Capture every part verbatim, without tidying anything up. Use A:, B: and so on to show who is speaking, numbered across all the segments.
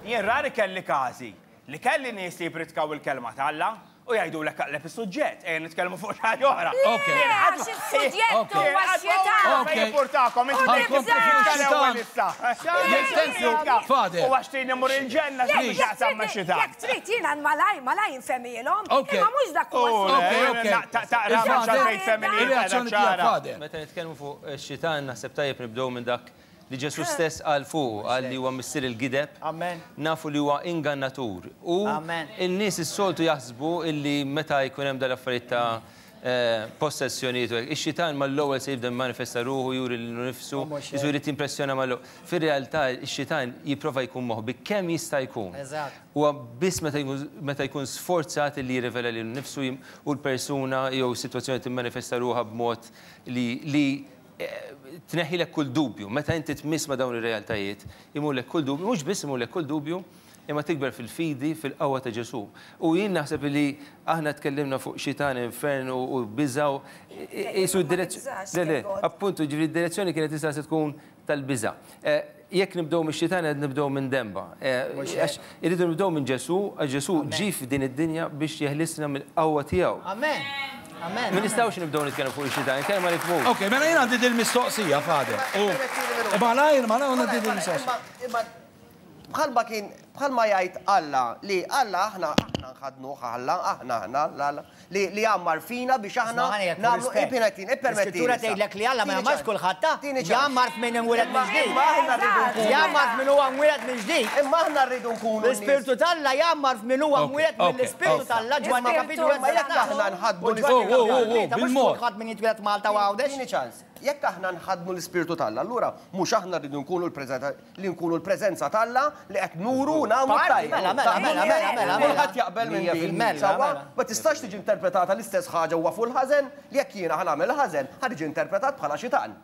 A: Jien rari kelli każi li kelli nies li jippritkaw il-kelma t'Alla u jgħidulek aqleb is-suġġett, ejja nitkellmu fuq xi ħaġa oħra.
B: Ok.
C: Għax is-suġġett huwa x-xitan.
B: Ok.
A: Jimpurtakom, inti
B: Ħankomplu fuq ix-xitan. Jekk thank you, Father.
A: U għax trid immur il-ġenna
C: Jekk
A: x'taqsam ma'
C: trid-
A: xitan.
C: Jekk trid jiena malaj, malaj nfehmilhom.
B: Ok.
C: Imma mhux dak huwa
A: Oh,
B: Ok,
C: s-suġġett.
B: ok.
A: Taqra
B: Il-Father,
A: xalfejn femminili
B: Ir-reazzjoni tiegħek, Father.
D: Meta nitkellmu fuq ix-xitan, naħseb tajjeb nibdew minn dak li Ġesu stess qal fuq, qal li huwa missier il-gideb.
E: Amen.
D: Nafu li huwa ingannatur. U
E: Amen.
D: n-nies is-soltu jaħsbu illi meta jkun hemm dal-affarijiet ta' eh, possessjonijiet u hekk, ix-xitan mal-ewwel se jibda manifesta ruħu, juri lilu nnifsu,
E: mhux
D: jisu jrid jimpressjona mal Fir-realtà ix-xitan jipprova jkun moħbi kemm jista' jkun.
E: Eżatt.
D: Huwa biss meta jkun meta jkun sforzat li jirrivela lilu nnifsu jim- u l-persuna jew sitwazzjoni timmanifesta ruħha b'mod li li eh, tneħħilek kull dubju. Meta inti tmiss ma' dawn ir-realtajiet, imurlek kull dubju, mhux biss imurlek kull dubju, imma tikber fil-fidi, fil-qawwa ta' Ġesu. U jien naħseb li aħna tkellimna fuq xitan, infern u u biża' u jisu
C: Ma
D: d-direzzjoni.
C: tibżax,
D: Le, le,
C: God.
D: appuntu, ġifieri d-direzzjoni kienet tista' se tkun tal-biża'. Eh, Jekk nibdew mix-xitan qed nibdew minn demba. Eh, Għax irridu nibdew minn Ġesu, għax Ġesu ġie f'din id-dinja biex jeħlisna mill-qawwa tiegħu.
E: Amen. Amen.
D: Ma nistgħux nibdew nitkellmu fuq ix-xitan, kemm ma nifhmux.
B: Ok, mela jien għandi dil-mistoqsija, Father. U malajr, malajr għandi dil-mistoqsija.
F: Imma bħalma kien bħalma jgħid Alla li Alla aħna aħna nħadnuh Alla aħna aħna Alla Alla, li li għammar fina biex aħna nagħmlu ippermettini ippermettini.
E: L-Iskrittura tgħidlek li Alla ma jgħammarx kulħadd ta' jgħammar f'min imwieled minn ġdid.
F: Imma aħna rridu nkunu.
E: Jgħammar f'min huwa mwieled minn ġdid.
F: Imma aħna rridu nkunu.
E: L-Ispirtu t'Alla jgħammar f'min huwa
B: Ok,
E: mwieled
B: ok,
E: mill-Ispirtu
B: ok.
E: t'Alla Ġwanni kapitlu
F: Imma jekk aħna nħaddnu
E: U Ġwanni
B: Oh, oh, oh,
E: kapitlu
B: oh,
E: tlieta, mhux
B: bil-mod.
E: kulħadd min jitwieled Malta u Għawdex.
F: Tini ċans. Jekk aħna nħaddnu l-Ispirtu t'Alla, allura mhux aħna rridu nkunu l-preżenza li nkunu l-preżenza t'Alla li qed nuru u nagħmlu
E: Parti,
F: tajjeb.
E: mela, mela, mela, mela, mela, mela.
F: Kulħadd jaqbel minn
E: Mija
F: din.
E: fil-mija,
F: Sewwa?
E: mela.
F: Ma tistax tiġi interpretata l-istess ħaġa huwa fuq il-ħażen li jekk jiena ħa nagħmel ħażen, ħa tiġi interpretat bħala xitan.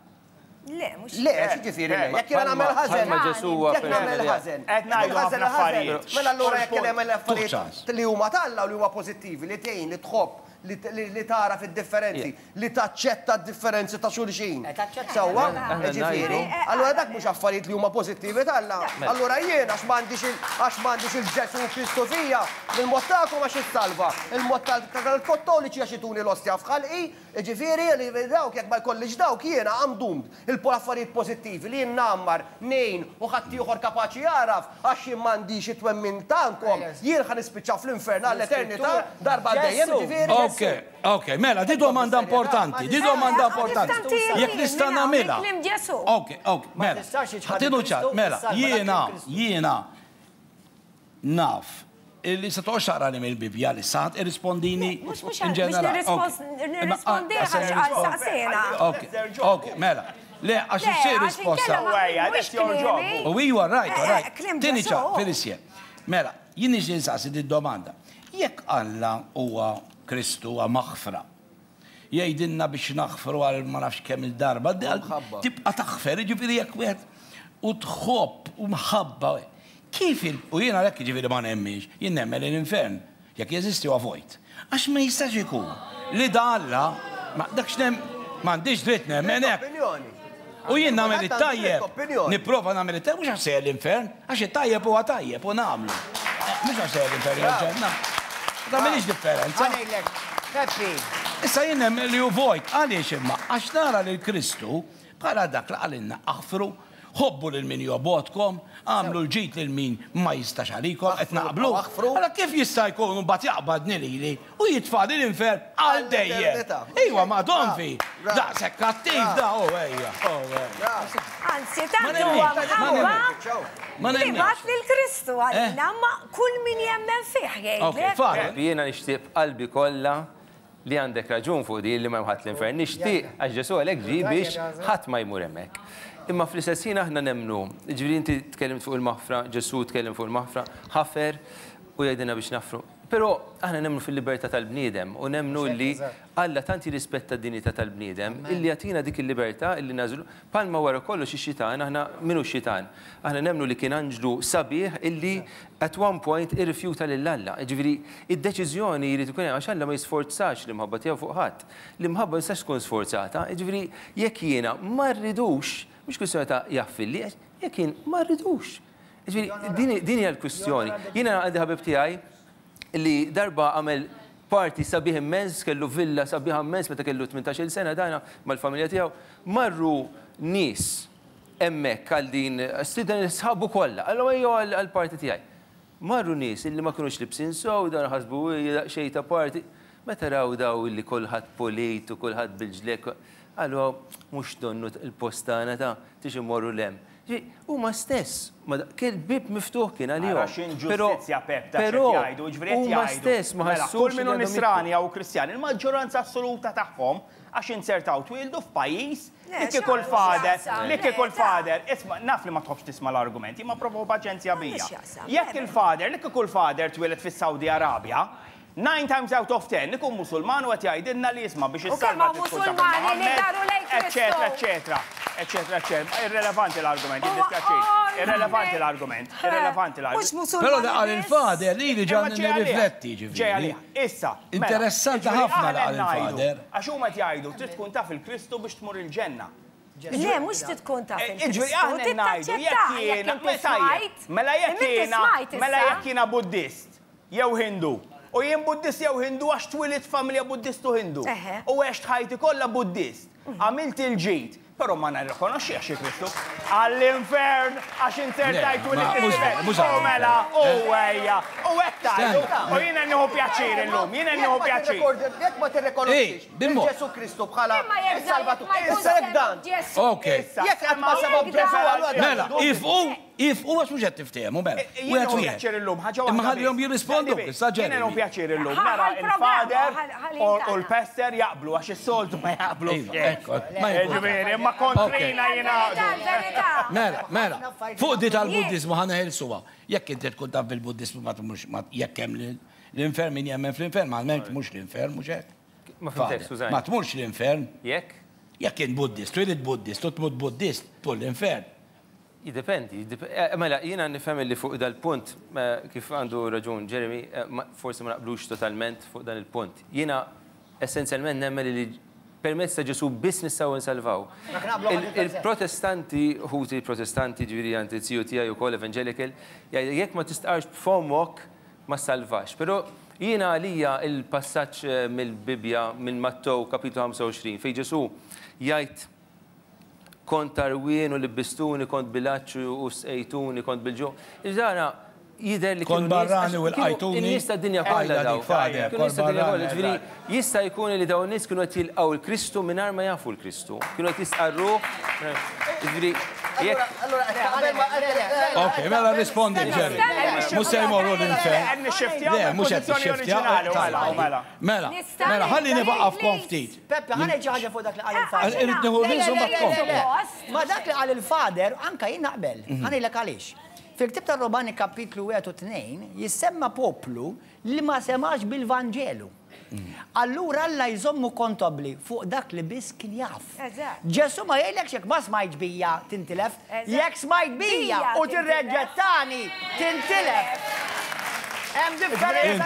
C: Le, mhux.
F: Le, xiġifieri le, jekk jiena nagħmel ħażen.
D: Bħalma Ġesu huwa
F: Jekk nagħmel
D: persuna li-
F: ħażen.
A: Qed ngħidu
F: jekk ħażen
A: ħafna
F: ħażen,
A: affarijiet.
F: Mela allura jekk nagħmel affarijiet
B: ċans.
F: li huma t'Alla u li huma pożittivi, li tgħin, li tħobb, li- li li tara fid-differenzi, li taċċetta d-differenzi ta' xulxin.
E: Eh, taċċetta.
F: Sewwa,
D: Aħna
F: ġifieri,
D: ngħidu-
F: allura dak mhux affarijiet li huma pożittivi t'Alla. Allura jien għax m'għandix il- għax m'għandix il-Ġesu Kristu fija, il-mod tagħkom għax issalva, il-mod tal- tal-Kattoliċi għax ituni l-ostja f'ħalqi, ġifieri li dawk jekk ma jkollix dawk jiena I'm doomed. Il-affarijiet pożittivi li jien nammar, nejn u ħadd ieħor kapaċi jaraf għax jien m'għandix it-twemmin tagħkom, jien ħa nispiċċa fl-infern għall-eternità darba dejjem ġifieri.
B: Ok, ok, mela, di domanda importanti, di domanda importanti. Jekk nista' nagħmilha.
C: Kliem Ġesu.
B: Ok, ok, mela.
E: tistax iċħad
B: Ħatidu ċar,
E: Kristu,
B: mela,
E: issalva dak
B: jiena,
E: Kristu.
B: jiena naf illi se toqgħodx taqra li mill-Bibja li sat irrispondini
C: Mhux mhux
B: in ġenerali.
C: nirrispondi għax għal saqsena.
B: Ok, ok, mela. Le, għax
C: Le,
B: issir
C: għax
B: risposta.
C: inkella ma-
A: Ejja,
C: mhux
A: that's your job.
C: kliemi.
B: U you are right, all
C: Eh,
B: right.
C: kliem
B: Tini
C: Ġesu.
B: ċar, Felicia. Mela, jien nixtieq nsaqsi di domanda. Jekk Alla huwa Kristu huwa maħfra, jgħidilna biex naħfru għal ma nafx kemm il-darba,
F: Mħabba.
B: tibqa' taħfer, jiġifieri jekk wieħed u tħobb u mħabba. Kif il u jiena għalhekk jiġifieri ma nemminx, jien nemmen l-infern, jekk jeżisti huwa vojt. Għax ma jistax ikun li da Alla, ma dak x'nem m'għandix dritt nemmen hekk.
F: Opinjoni.
B: U jien nagħmel it-tajjeb.
F: Opinjoni.
B: Nipprova nagħmel it-tajjeb mhux għax sejjer l-infern, għax it-tajjeb huwa tajjeb u nagħmlu. Eh, Mhux għax sejjer l-infern jew ġenna. Ma tagħmilix differenza.
E: Ħa ngħidlek, Peppi,
B: Issa jien nemmen li hu vojt, għaliex imma għax nara lil Kristu bħala dak li qalilna aħfru, ħobbu lil min jobgħodkom, għamlu l-ġid lil min ma jistax għalikom, qed naqblu.
F: Aħfru.
B: Allora kif jista' jkun mbagħad jaqbadni lili u jitfagħli l-infern għal dejjem?
F: Għall-eternità.
B: Iwa, ma donfi,
F: Bravo.
B: daqshekk kattiv da, oh ejja, oh ejja.
C: Anzi, tant
B: Ma
C: huwa
B: nemminx, ma
C: mħabba
B: Ma
C: li
B: nemminx.
C: bagħat lil Kristu għalina, ma kull min jemmen fih
B: Ok,
C: jgħidlek.
B: Father.
D: Jiena nixtieq b'qalbi kollha li għandek raġun fuq di li ma jmħat l-infern. Nixtieq għax Ġesu għalhekk ġie biex ħadd ma jmur hemmhekk. Imma fl-istess ħin aħna nemmnu, ġifieri inti tkellimt fuq il-maħfra, Ġesu tkellem fuq il-maħfra, ħafer u jgħidilna biex naħfru. Però aħna nemmnu fil-libertà tal-bniedem u nemmnu li Alla tant jirrispetta d-dinjità tal-bniedem illi jagħtina dik il-libertà illi nagħżlu. Palma wara kollox ix-xitan, aħna minu x-xitan? Aħna nemmnu li kien anġlu sabiħ illi at one point irrifjuta lil Alla. Ġifieri id-deċiżjoni jrid ikun hemm għax Alla ma jisforzax l-imħabba tiegħu fuq ħadd. L-imħabba jistax tkun sforzata, ġifieri jekk jiena ma rridux, mhux kwistjoni ta' jaffilli, jekk jien ma rridux. Ġifieri, din hija l-kwistjoni. Jiena għandi ħabib tiegħi li darba għamel party sabiħ immens, kellu villa sabiħ immens meta kellu tmintax-il sena dana mal-familja tiegħu, marru nies hemmhekk għal din stieden sħabu kollha, qallu ejjew għall-party tiegħi. Marru nies illi ma kinux libsin sew, dan ħasbu xejn ta' party. Meta raw daw illi kulħadd polit u kulħadd bil-ġlek, qalu mhux donnu il-post tagħna ta' tix immorru l-hemm. Huma stess, kien bib miftuħ kien għalihom.
A: Għax inġustizzja Pep ta' x'qed jgħidu, ġifieri qed
D: Huma stess ma ħassux.
A: Kull min hu nisrani jew Kristjan, il-maġġoranza assoluta tagħhom għax insertaw twildu f'pajjiż li kieku l-fader, li kieku l-fader, isma' naf li ma tħobbx tisma' l-argumenti, ma provaw paċenzja bija. Jekk il-fader, li kieku l-fader twieled fis-Saudi Arabja, nine times out of ten ikun Musulman u qed jgħidilna li jisma' biex issalva
C: Musulmani li daru lejn Kristu.
A: Eċetera, eċetera, eċetera, eċetera. Irrelevanti l-argument, jiddispjaċini. Irrelevanti l-argument, irrelevanti l-argument.
B: Però da qal il-fader li li ġan nirrifletti ġifieri.
A: Ġej għalih. Issa.
B: Interessanti ħafna li qal il-fader.
A: Għax huma qed jgħidu trid tkun taf il-Kristu biex tmur il-ġenna.
C: Le, mhux trid tkun taf il-Kristu.
A: Aħna ngħidu jekk jiena mela jekk jiena mela jekk jiena Buddist jew Hindu. U jien Buddist jew Hindu għax twilit familja Buddist u Hindu. U għext ħajti kollha Buddist. Għamilt il-ġid, però ma nirrikonoxxix Kristu. Għall-infern għax insertajt twilit il-ġid. U mela, u ejja, u hekk tgħidu. U jiena nieħu pjaċir illum, jiena nieħu pjaċir.
F: Jekk ma tirrikonoxxix Ġesu Kristu bħala is-Salvatur. Issa jekk dan.
B: Ok.
F: Jekk qatt ma sabab Ġesu allura.
B: Mela, ifqu If u għax mhux qed tiftehmu mela.
A: Jien pjaċir illum, ħaġa waħda.
B: Imma ħallihom jirrispondu, issa ġej.
A: Jien pjaċir illum, nara il-fader u l-pastor jaqblu għax is-soltu ma jaqblu. Ġifieri, imma kontrina jingħaqdu.
B: Mela, mela, fuq di tal-Buddiżmu ħa neħilsuha. Jekk inti tkun taf bil-Buddiżmu ma tmurx jekk hemm l-infern min jemmen fl-infern, ma mhux l-infern mhux hekk.
D: Ma fimtek, skużani.
B: Ma tmurx l-infern.
D: Jekk?
B: Jekk int Buddist, twieled Buddist u tmut Buddist, tmur l-infern.
D: Jiddependi, mela jiena nifhem li fuq dal-punt kif għandu raġun Jeremy, forsi ma naqblux totalment fuq dan il-punt. Jiena essenzjalment nemmen li permezz ta' Ġesu biss nistgħu nsalvaw. Il-Protestanti, ħuti Protestanti, ġifieri għandi ziju tiegħi wkoll evangelical, jekk ma tistqarx b'fommok ma salvax. Però jiena għalija il-passaġġ mill-Bibbja minn Mattew kapitlu ħamsa u għoxrin fejn Ġesu jgħid kont tarwien u libbistuni, kont bil-għatx u sqejtuni, kont bil-ġuħ. Iġdara jidher li
B: kont barrani u l-qajtuni.
D: In-nies tad-dinja kollha daw. Ġifieri jista' jkun li dawn in-nies kienu qed jilqgħu l-Kristu mingħajr ma jafu l-Kristu. Kienu qed jistqarruh. Ġifieri
B: Ok, mela rispondi Jerry. Mhux se jmorru l-infern. Le, mhux qed nixxiftja. Mela, mela, ħalli nibaqafkom ftit.
E: Peppe, ħa ngħid xi ħaġa fuq dak li qal il-fader.
B: Irrid nieħu nies u mbagħad tkompli.
E: Ma dak li qal il-fader anke jien naqbel. Ħa ngħidlek għaliex. Fil-ktieb tar-Romani kapitlu wieħed u tnejn jissemma poplu li ma semax bil-Vanġelu. Allura Alla jżommu kontabbli fuq dak li biss kien jaf. Ġesu ma jgħidlekx jekk ma smajtx bija tintilef, jekk smajt bija u tirreġġettani tintilef. Hemm differenza.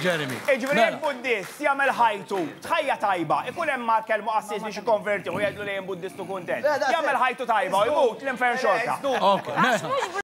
A: Ġifieri jekk Buddist jagħmel ħajtu tħajja tajba, ikun hemm mar kelmu qassis biex ikkonverti u jgħidlu li jien Buddist u kuntent. Jagħmel ħajtu tajba u jmut l-infern xorta.
B: Ok, mela.